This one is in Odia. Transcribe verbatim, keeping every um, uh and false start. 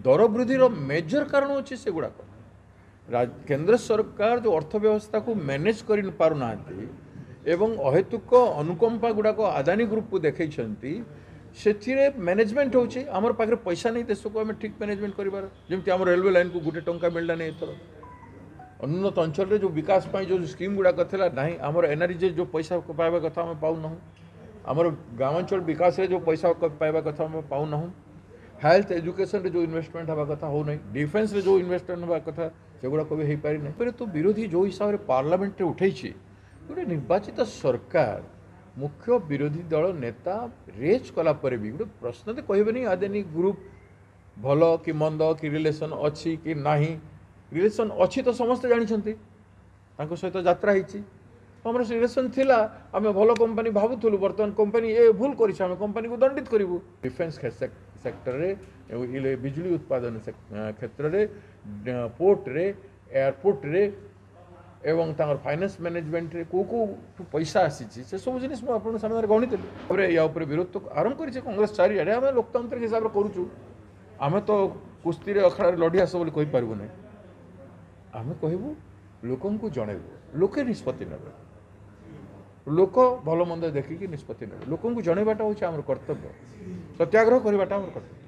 ଦର ବୃଦ୍ଧିର ମେଜର କାରଣ ହେଉଛି ସେଗୁଡ଼ାକ। କେନ୍ଦ୍ର ସରକାର ଯେଉଁ ଅର୍ଥ ବ୍ୟବସ୍ଥାକୁ ମ୍ୟାନେଜ୍ କରିପାରୁନାହାନ୍ତି ଏବଂ ଅହେତୁକ ଅନୁକମ୍ପା ଗୁଡ଼ାକ ଆଦାନୀ ଗ୍ରୁପକୁ ଦେଖେଇଛନ୍ତି, ସେଥିରେ ମ୍ୟାନେଜମେଣ୍ଟ ହେଉଛି ଆମର ପାଖରେ ପଇସା ନେଇ ଦେଶକୁ ଆମେ ଠିକ୍ ମ୍ୟାନେଜମେଣ୍ଟ କରିବାର। ଯେମିତି ଆମ ରେଲୱେ ଲାଇନ୍କୁ ଗୋଟେ ଟଙ୍କା ମିଳିଲାନି ଏଥର, ଅନୁନ୍ନତ ଅଞ୍ଚଳରେ ଯେଉଁ ବିକାଶ ପାଇଁ ଯେଉଁ ସ୍କିମ୍ ଗୁଡ଼ାକ ଥିଲା ନାହିଁ, ଆମର ଏନ୍ଆର୍ଜି ଯେଉଁ ପଇସା ପାଇବା କଥା ଆମେ ପାଉନାହୁଁ, ଆମର ଗ୍ରାମାଞ୍ଚଳ ବିକାଶରେ ଯେଉଁ ପଇସା ପାଇବା କଥା ଆମେ ପାଉନାହୁଁ, ହେଲ୍ଥ ଏଜୁକେସନରେ ଯେଉଁ ଇନଭେଷ୍ଟମେଣ୍ଟ ହେବା କଥା ହେଉନାହିଁ, ଡିଫେନ୍ସରେ ଯେଉଁ ଇନଭେଷ୍ଟମେଣ୍ଟ ହେବା କଥା ସେଗୁଡ଼ାକ ବି ହେଇପାରିନାହିଁ। ତ ବିରୋଧୀ ଯେଉଁ ହିସାବରେ ପାର୍ଲାମେଣ୍ଟରେ ଉଠେଇଛି, ଗୋଟେ ନିର୍ବାଚିତ ସରକାର ମୁଖ୍ୟ ବିରୋଧୀ ଦଳ ନେତା ରେଜ୍ କଲା ପରେ ବି ଗୋଟେ ପ୍ରଶ୍ନ ତ କହିବେନି ଆଦାନୀ ଗ୍ରୁପ୍ ଭଲ କି ମନ୍ଦ, କି ରିଲେସନ୍ ଅଛି କି ନାହିଁ। ରିଲେସନ୍ ଅଛି ତ ସମସ୍ତେ ଜାଣିଛନ୍ତି, ତାଙ୍କ ସହିତ ଯାତ୍ରା ହେଇଛି, ଆମର ରିଲେସନ୍ ଥିଲା, ଆମେ ଭଲ କମ୍ପାନୀ ଭାବୁଥିଲୁ, ବର୍ତ୍ତମାନ କମ୍ପାନୀ ଏ ଭୁଲ କରିଛି, ଆମେ କମ୍ପାନୀକୁ ଦଣ୍ଡିତ କରିବୁ। ଡିଫେନ୍ସ ସେକ୍ଟରରେ, ବିଜୁଳି ଉତ୍ପାଦନ କ୍ଷେତ୍ରରେ, ପୋର୍ଟରେ, ଏୟାରପୋର୍ଟରେ ଏବଂ ତାଙ୍କର ଫାଇନାନ୍ସ ମ୍ୟାନେଜମେଣ୍ଟରେ କେଉଁ କେଉଁଠୁ ପଇସା ଆସିଛି ସେସବୁ ଜିନିଷ ମୁଁ ଆପଣଙ୍କ ସାମ୍ନାରେ ଗଣିଥିଲି। ତାପରେ ୟା ଉପରେ ବିରୋଧ ତ ଆରମ୍ଭ କରିছে କଂଗ୍ରେସ ଚାରିଆଡ଼େ। ଆମେ ଲୋକତାନ୍ତ୍ରିକ ହିସାବରେ କରୁଛୁ, ଆମେ ତ କୁସ୍ତିରେ ଅଖଡ଼ାରେ ଲଢ଼ି ଆସ ବୋଲି କହିପାରିବୁ ନାହିଁ। ଆମେ କହିବୁ ଲୋକଙ୍କୁ ଜଣେଇବୁ, ଲୋକେ ନିଷ୍ପତ୍ତି ନେବେ, ଲୋକ ଭଲ ମନ୍ଦ ଦେଖିକି ନିଷ୍ପତ୍ତି ନେବେ। ଲୋକଙ୍କୁ ଜଣେଇବାଟା ହେଉଛି ଆମର କର୍ତ୍ତବ୍ୟ, ସତ୍ୟାଗ୍ରହ କରିବାଟା ଆମର କର୍ତ୍ତବ୍ୟ।